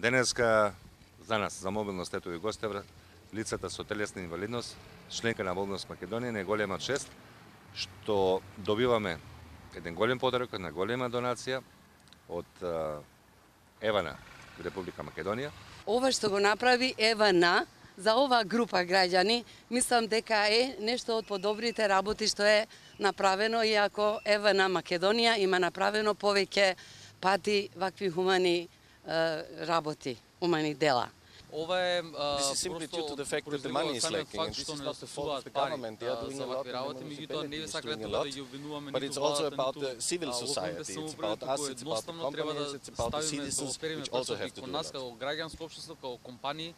Денеска за нас, за Мобилност ето и гостевра, лицата со телесна инвалидност, членка на Мобилност Македонија, не голема чест што добиваме еден голем подарок, една голема донација од Евана, Република Македонија. Ова што го направи Евана за оваа група граѓани, мислам дека е нешто од подобрите работи што е направено, иако Евана Македонија има направено повеќе пати вакви хумани работи, хумани дела. Ова е This is simply due to the fact that the money is lacking, and this is not the fault of the government. They are doing a lot, and the municipality is doing a lot. But it's also about the civil society. It's about us, it's about the companies, it's about the citizens, which also have to do a lot. Како граѓанско општество, како компании,